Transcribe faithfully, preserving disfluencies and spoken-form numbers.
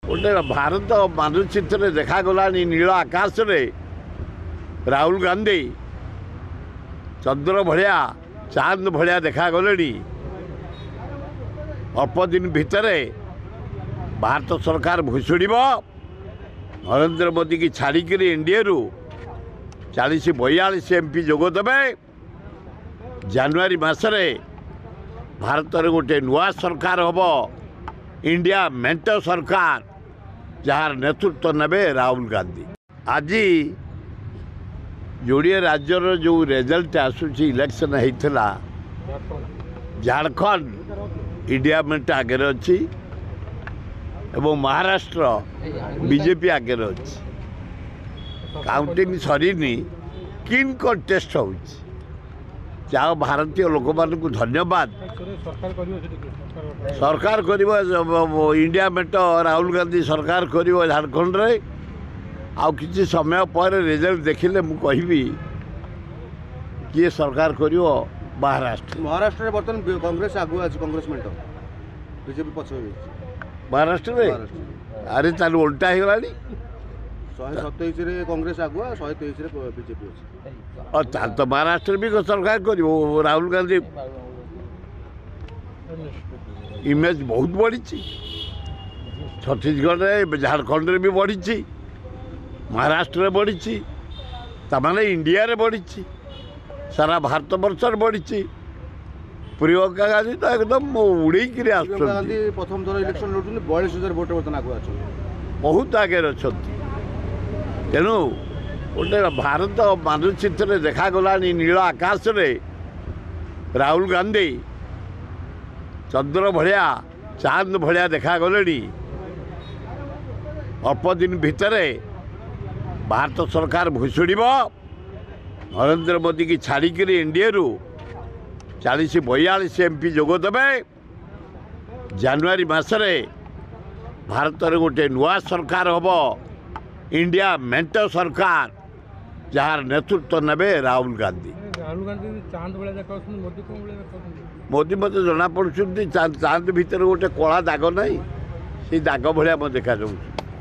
ଗୋଟେ ଭାରତ ମାନଚିତ୍ରରେ ଦେଖାଗଲାଣି ନୀଳ ଆକାଶରେ ରାହୁଲ ଗାନ୍ଧୀ ଚନ୍ଦ୍ର ଭଳିଆ, ଚାନ୍ଦ ଭଳିଆ ଦେଖାଗଲେଣି। ଅଳ୍ପ ଦିନ ଭିତରେ ଭାରତ ସରକାର ଭୁଷୁଡ଼ିବ। ନରେନ୍ଦ୍ର ମୋଦିକି ଛାଡ଼ିକିରି ଏନ୍ଡିଏରୁ ଚାଳିଶ ବୟାଳିଶ ଏମ୍ ପି ଯୋଗ ଦେବେ। ଜାନୁଆରୀ ମାସରେ ଭାରତରେ ଗୋଟେ ନୂଆ ସରକାର ହେବ, ଇଣ୍ଡିଆ ମେଣ୍ଟ ସରକାର, ଯାହାର ନେତୃତ୍ୱ ନେବେ ରାହୁଲ ଗାନ୍ଧୀ। ଆଜି ଯୋଡ଼ିଏ ରାଜ୍ୟର ଯେଉଁ ରେଜଲ୍ଟ ଆସୁଛି, ଇଲେକ୍ସନ୍ ହେଇଥିଲା, ଝାଡ଼ଖଣ୍ଡ ଇଣ୍ଡିଆ ମେଣ୍ଟ ଆଗରେ ଅଛି ଏବଂ ମହାରାଷ୍ଟ୍ର ବିଜେପି ଆଗରେ ଅଛି। କାଉଣ୍ଟିଂ ସରିନି, କିନ୍ କଣ୍ଟେଷ୍ଟ ହେଉଛି। ଯାହା ଭାରତୀୟ ଲୋକମାନଙ୍କୁ ଧନ୍ୟବାଦ। ସରକାର କରିବ ଇଣ୍ଡିଆ ମେଣ୍ଟ, ରାହୁଲ ଗାନ୍ଧୀ ସରକାର କରିବ ଝାଡ଼ଖଣ୍ଡରେ। ଆଉ କିଛି ସମୟ ପରେ ରେଜଲ୍ଟ ଦେଖିଲେ ମୁଁ କହିବି କିଏ ସରକାର କରିବ ମହାରାଷ୍ଟ୍ର। ମହାରାଷ୍ଟ୍ରରେ ବର୍ତ୍ତମାନ କଂଗ୍ରେସ ଆଗୁଆ ଅଛି, କଂଗ୍ରେସ ମେଣ୍ଟ, ବିଜେପି ପଛ ହେଇଯାଇଛି ମହାରାଷ୍ଟ୍ରରେ। ଆରେ ତାହେଲେ ଓଲଟା ହେଇଗଲାଣି। ଶହେ ସତେଇଶରେ କଂଗ୍ରେସ ଆଗୁଆ, ଶହେ ତେଇଶରେ ବିଜେପି ଅଛି। ତାହେଲେ ତ ମହାରାଷ୍ଟ୍ରରେ ବି ସରକାର କରିବ ରାହୁଲ ଗାନ୍ଧୀ। ଇମେଜ୍ ବହୁତ ବଢ଼ିଛି ଛତିଶଗଡ଼ରେ, ଝାଡ଼ଖଣ୍ଡରେ ବି ବଢ଼ିଛି, ମହାରାଷ୍ଟ୍ରରେ ବଢ଼ିଛି, ତାମାନେ ଇଣ୍ଡିଆରେ ବଢ଼ିଛି, ସାରା ଭାରତବର୍ଷରେ ବଢ଼ିଛି। ପ୍ରିୟଙ୍କା ଗାନ୍ଧୀ ତ ଏକଦମ ଉଡ଼େଇକିରି ଆସୁଛନ୍ତି। ପ୍ରଥମ ଥର ଇଲେକ୍ସନ ଲଢୁଛନ୍ତି, ବୟାଳିଶ ହଜାର ଭୋଟ ବର୍ତ୍ତମାନ ଆଗୁଆ ଅଛନ୍ତି, ବହୁତ ଆଗରେ ଅଛନ୍ତି। ତେଣୁ ଗୋଟେ ଭାରତ ମାନଚିତ୍ରରେ ଦେଖାଗଲାଣି ନୀଳ ଆକାଶରେ ରାହୁଲ ଗାନ୍ଧୀ ଚନ୍ଦ୍ର ଭଳିଆ, ଚାନ୍ଦ ଭଳିଆ ଦେଖାଗଲେଣି। ଅଳ୍ପ ଦିନ ଭିତରେ ଭାରତ ସରକାର ଭୁଷୁଡ଼ିବ। ନରେନ୍ଦ୍ର ମୋଦିକି ଛାଡ଼ିକିରି ଏନ୍ଡିଏରୁ ଚାଳିଶ ବୟାଳିଶ ଏମ୍ ପି ଯୋଗ ଦେବେ। ଜାନୁଆରୀ ମାସରେ ଭାରତରେ ଗୋଟେ ନୂଆ ସରକାର ହେବ, ଇଣ୍ଡିଆ ମେଣ୍ଟ ସରକାର, ଯାହାର ନେତୃତ୍ୱ ନେବେ ରାହୁଲ ଗାନ୍ଧୀ। ମୋଦି ମୋତେ ଜଣାପଡ଼ୁଛନ୍ତି ଚାନ୍ଦ ଭିତରେ ଗୋଟେ କଳା ଦାଗ ନାହିଁ, ସେଇ ଦାଗ ଭଳିଆ ମୋତେ ଦେଖାଯାଉଛି।